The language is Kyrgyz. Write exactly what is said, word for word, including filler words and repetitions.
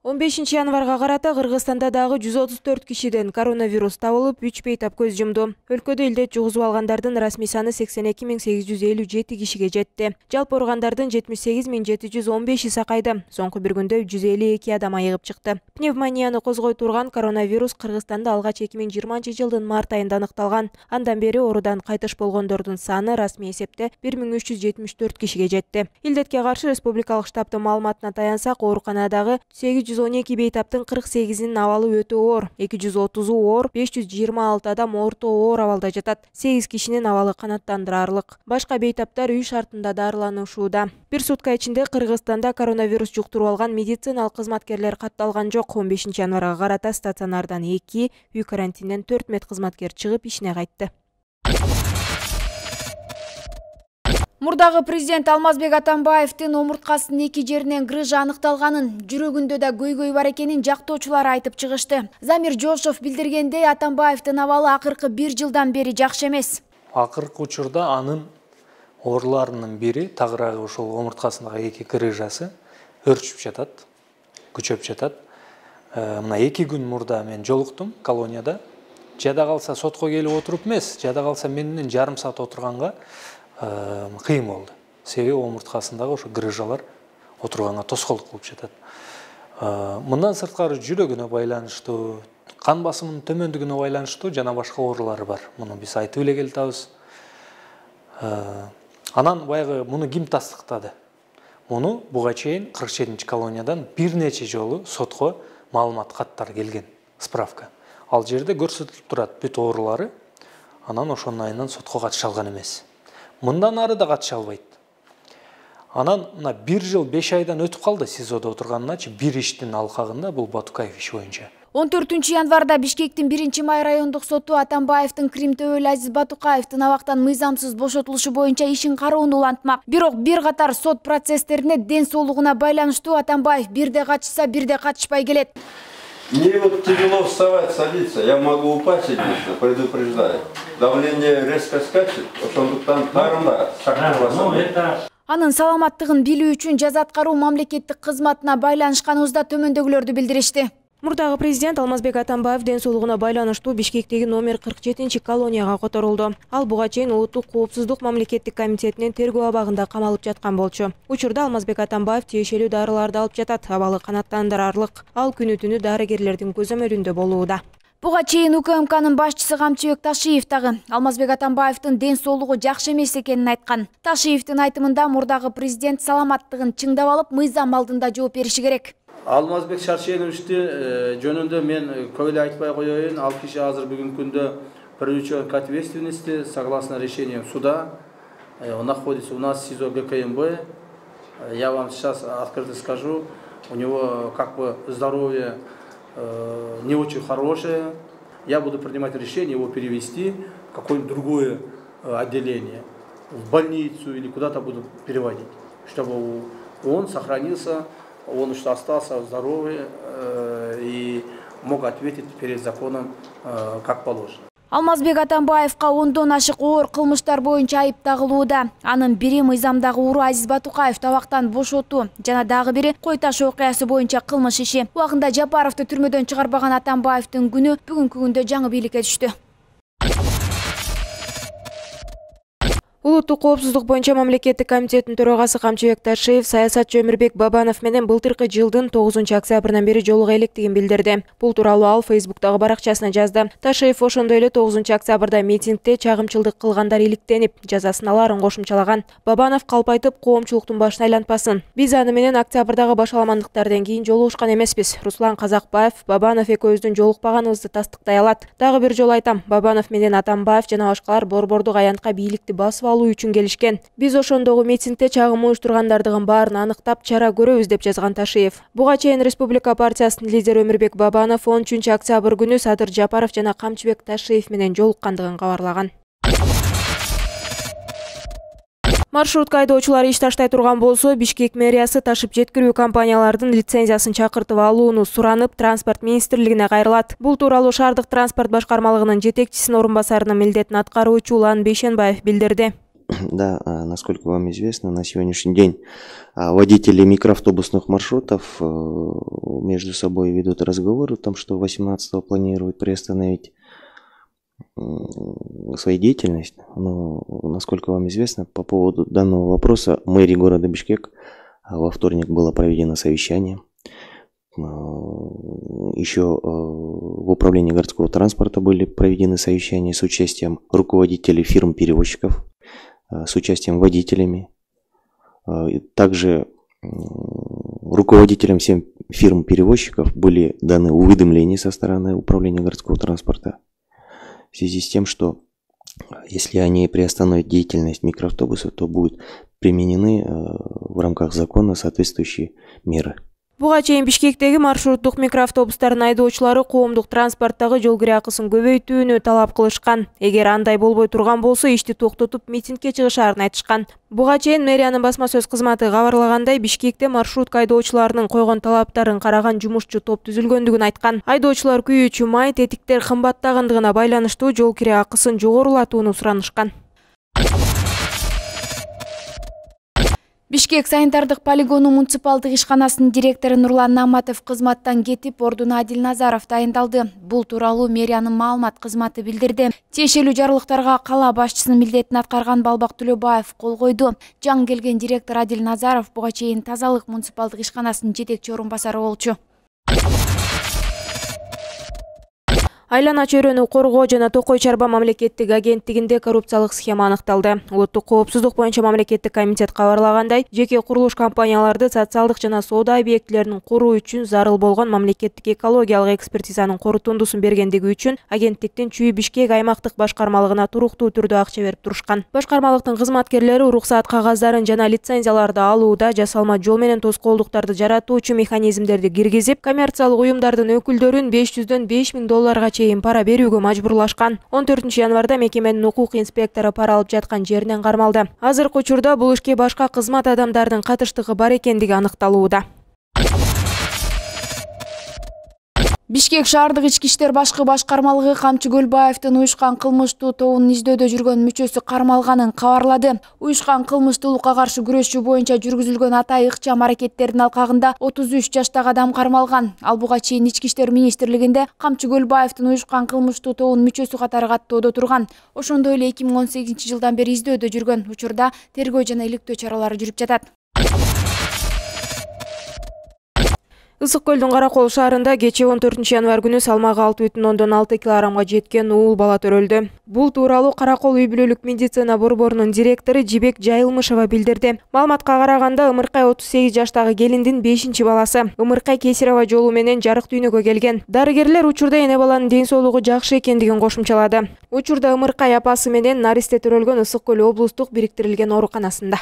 он бешинчи январга карата Кыргызстанда дагы жүз отуз төрт кишиден коронавирус табылып, үч бейтап көз жумду. Өлкөдө илдет жугузуп алгандардын расмий саны сексен эки миң сегиз жүз элүү жети кишиге жетти. Жалпы ооругандардын жетимиш сегиз миң жети жүз он беши сакайды. Соңку бир күндө жүз элүү эки адам айыгып чыкты. Пневмонияны козгой турган коронавирус Кыргызстанда алгач эки миң жыйырманчы жылдын март айында аныкталган. Андан бери оорудан кайтыш болгондордун саны расмий эсепте бир миң үч жүз жетимиш төрт кишиге жетти. Илдетке каршы республикалык штабтын маалыматына таянсак, ооруканадагы сегиз жүз он эки бейтаптын кырк сегизинин абалы өтө оор, эки жүз отузу оор, беш жүз жыйырма алты адам орто оор абалда жатат. сегиз кишинин абалы канааттандыраарлык. Башка бейтаптар үй шартында дарыланышууда. Бир сутка ичинде Кыргызстанда коронавирус жуктуруп алган медициналык кызматкерлер катталган жок. он бешинчи январга карата стационардан эки, үй карантинден төрт медкызматкер чыгып ишине кайтты. Мурдагы президент Алмазбек Атамбаевдин омурткасынын эки жеринен грыжа аныкталганын, жүрөгүндө да көйгөй бар экенин жактоочулар айтып чыгышты. Замир Жошов билдиргендей, Атамбаевдин абалы акыркы бир жылдан бери жакшы эмес. Акыркы учурда анын ооруларынын бири, тагыраагы ошол омурткасындагы эки грыжасы өрчүп жатат, күчөп жатат. Мына эки күн мурда мен жолуктум колонияда. Жада калса сотко келип отуруп эмес, жада калса мен менен жарым саат отурганга кыйын болду. Себеби омурткасындагы ошо грыжалар отурганга тоскоолдук болуп жатат. Мындан сырткары жүрөгүнө байланыштуу, кан басымынын төмөндүгүнө байланыштуу жана башка оорулары бар. Муну биз айтып эле келатабыз. Анан баягы муну ким тастыктады? Муну буга чейин кырк жетинчи колониядан бир нече жолу сотко маалымат каттар келген, справка. Ал жерде көрсөтүлүп турат бүт оорулары. Анан ошонун айынан сотко катыша алган эмес. Мындан ары да катыша албайт. Анан мына бир жыл беш айдан өтүп калды СИЗОдо отурганыначы бир иштин алкагында, бул Батукаев иши боюнча. он төртүнчү январда Бишкектин биринчи май райондук соту Атамбаевдин Крим төбөлү Азиз Батукаевдин абактан мыйзамсыз бошотулушу боюнча ишин кароону улантмак. Бирок бир катар сот процесстерине ден соолугуна байланыштуу Атамбаев бирде катышса, бирде катышпай келет. Мне вот тяжело вставать, садиться, я могу упасть, единственно, предупреждаю. Давление резко скачет, ошондуктан тарымда шактырбаса. Анын саламаттыгын билүү үчүн жаза аткаруу мамлекеттик кызматына байланышканыбызда төмөндөгүлөрдү билдиришти. Мурдагы президент Алмазбек Атамбаев ден соолугуна байланыштуу Бишкектеги номер кырк жетинчи колонияга которулду. Ал буга чейин Улуттук коопсуздук мамлекеттик комитетинин тергөө абагында камалып жаткан болчу. Учурда Алмазбек Атамбаев тиешелүү дарыларды алып жатат, абалы канааттандыраарлык. Ал күнү түнү дарыгерлердин көзөмөлүндө болууда. Буга чейин УКМКнын башчысы Камчыбек Ташиев дагы Алмазбек Атамбаевдин ден соолугу жакшы эмес экенин айткан. Ташиевдин айтымында мурдагы президент саламаттыгын чыңдап алып, мыйзам алдында жооп бериши керек. Алмазбек Шаршеновичти жөнүндө мен көп эле айтпай коеюн. Ал киши азыр бүгүнкү күндө привлечен к ответственности согласно решениям суда. Он находится у нас в СИЗО ГКМБ. Я вам сейчас открыто скажу, у него как бы здоровье не очень хорошее. Я буду принимать решение его перевести в какое-нибудь другое отделение, в больницу или куда-то буду переводить, чтобы он сохранился, он что остался здоровый э, и мог ответить перед законом э, как положено. Алмазбек Атамбаевка ондон ашык оор кылмыштар боюнча айып тагылууда. Анын бири мыйзамдагы уру Азиз Батукаев табактан бошотуу, жана дагы бири Кой таш окуясы боюнча кылмыш иши. Убагында Жапаровду түрмөдөн чыгарбаган Атамбаевдин күнү бүгүнкү күндө жаңы бийликке түштү. Улуттук коопсуздук боюнча мамлекеттик комитеттин төрагасы Камчыбек Ташиев саясатчы Өмүрбек Бабанов менен былтыркы жылдын тогузунчу октябрынан бери жолуга электигин билдирди. Бул тууралуу ал Фейсбуктагы баракчасына жазды. Ташиев ошондой эле тогузунчу октябрда митингде чагымчылдык кылгандар иликтенип, жазасын алаарын кошумчалаган. Бабанов калп айтып, коомчулуктун башын айлантпасын. Биз аны менен октябрдагы башаламандыктардан кийин жолугушкан эмеспиз. Руслан Казакбаев Бабанов экөөбүздүн жолукпаганыбызды тастыктай алат. Дагы бир жолу айтам, Бабанов менен Атамбаев жана башкалар борбордук аянтка бийликти басып алуу үчүн келишкен. Биз ошондогу митингде чагым уюштургандардыгын баарын аныктап чара көрөбүз деп жазган Ташиев. Буга чейин Республика партиясынын лидери Өмүрбек Бабанов он үчүнчү октябрь күнү Садыр Жапаров жана Камчыбек Ташиев менен жолуккандыгын кабарлаган. Маршрутка айдоочулары иш таштай турган болсо, Бишкек мэриясы ташып жеткирүү компаниялардын лицензиясын чакыртып алууну суранып, транспорт министрлигине кайрылат. Бул тууралуу шаардык транспорт башкармалыгынын жетекчисинин орун басарынын милдетин аткаруучу Улан Бейшенбаев билдирди. Да, насколько вам известно, на сегодняшний день водители микроавтобусных маршрутов между собой ведут разговоры о том, что восемнадцатого планируют приостановить свою деятельность. Но, насколько вам известно, по поводу данного вопроса мэрии города Бишкек во вторник было проведено совещание. Еще в управлении городского транспорта были проведены совещания с участием руководителей фирм-перевозчиков, с участием водителями. Также руководителям всем фирм-перевозчиков были даны уведомления со стороны управления городского транспорта в связи с тем, что если они приостановят деятельность микроавтобусов, то будут применены в рамках закона соответствующие меры. Буга чейин Бишкектеги маршруттук микроавтобустардын айдоочулары коомдук транспорттагы жол кире акысын көбөйтүүнү талап кылышкан. Эгер андай болбой турган болсо ишти токтотуп митингге чыгышаарын айтышкан. Буга чейин мэриянын басма сөз кызматы кабарлагандай, Бишкекте маршрутка айдоочуларынын койгон талаптарын караган жумушчу топ түзүлгөндүгүн айткан. Айдоочулар күйүүчү май, тетиктер кымбаттагандыгына байланыштуу жол кире акысын жогорулатууну суранышкан. Бишкек санитардык полигону муниципалдык ишканасынын директору Нурлан Наматов кызматтан кетип, ордуна Адил Назаров дайындалды. Бул тууралуу мэриянын маалымат кызматы билдирди. Тиешелүү жарлыктарга кала башчысынын милдетин аткарган Балбак Төлөбаев кол койду. Жаңы келген директор Адил Назаров буга чейин тазалык муниципалдык ишканасынын жетекчи орун басары болчу. Айлана чөйрөнү коргоо жана Токой чарба мамлекеттик агенттигинде коррупциялык схема аныкталды. Улуттук коопсуздук боюнча мамлекеттик комитет кабарлагандай, жеке курулуш компанияларды социалдык жана соода объектилерин коруу үчүн зарыл болгон мамлекеттик экологиялык экспертизанын корутундусун бергендиги үчүн агенттиктин Чүй Бишкек аймактык башкармалыгына туруктуу түрдө акча берип турушкан. Башкармалыктын кызматкерлери уруксаат кагаздарын жана лицензияларды алууда жасалма жол менен тоскоолдуктарды жаратуучу механизмдерди киргизип, коммерциялык уюмдардын өкүлдөрүн беш жүздөн беш миң долларга чейин пара берүүгө мажбурлашкан. он төртүнчү январда мекеменин укук инспектору пара алып жаткан жеринен кармалды. Азыркы учурда бул ишке башка кызмат адамдардын катыштыгы бар экендиги аныкталууда. Бишкек шаардык ички иштер башкы башкармалыгы Камчы Көлбаевдин уюшкан кылмыштуу тобунун издөөдө жүргөн мүчөсү кармалганын кабарлады. Уюшкан кылмыштуулукка каршы күрөшүү боюнча жүргүзүлгөн атай ыкчам аракеттердин алкагында отуз үч жаштагы адам кармалган. Ал буга чейин ички иштер министрлигинде Камчы Көлбаевдин уюшкан кылмыштуу тобунун мүчөсү катары каттоодо турган. Ошондой эле эки миң он сегизинчи жылдан бери издөөдө жүргөн. Учурда тергөө жана иликтөө чаралары жүрүп жатат. Ысык көлдүн Каракол шаарында кечээ он төртүнчү январ күнү салмагы алты бүтүн ондон алты килограммга жеткен уул бала төрөлдү. Бул тууралуу Каракол үй бүлөлүк медицина борборунун директору Жибек Жайылмышева билдирди. Маалыматка караганда, Ымыркай отуз сегиз жаштагы келиндин бешинчи баласы. Ымыркай кесарево жолу менен жарык дүйнөгө келген. Дарыгерлер учурда эне баланын ден соолугу жакшы экендигин кошумчалады. Учурда Ымыркай апасы менен наристе төрөлгөн Ысык көл облустук бириктирилген ооруканасында.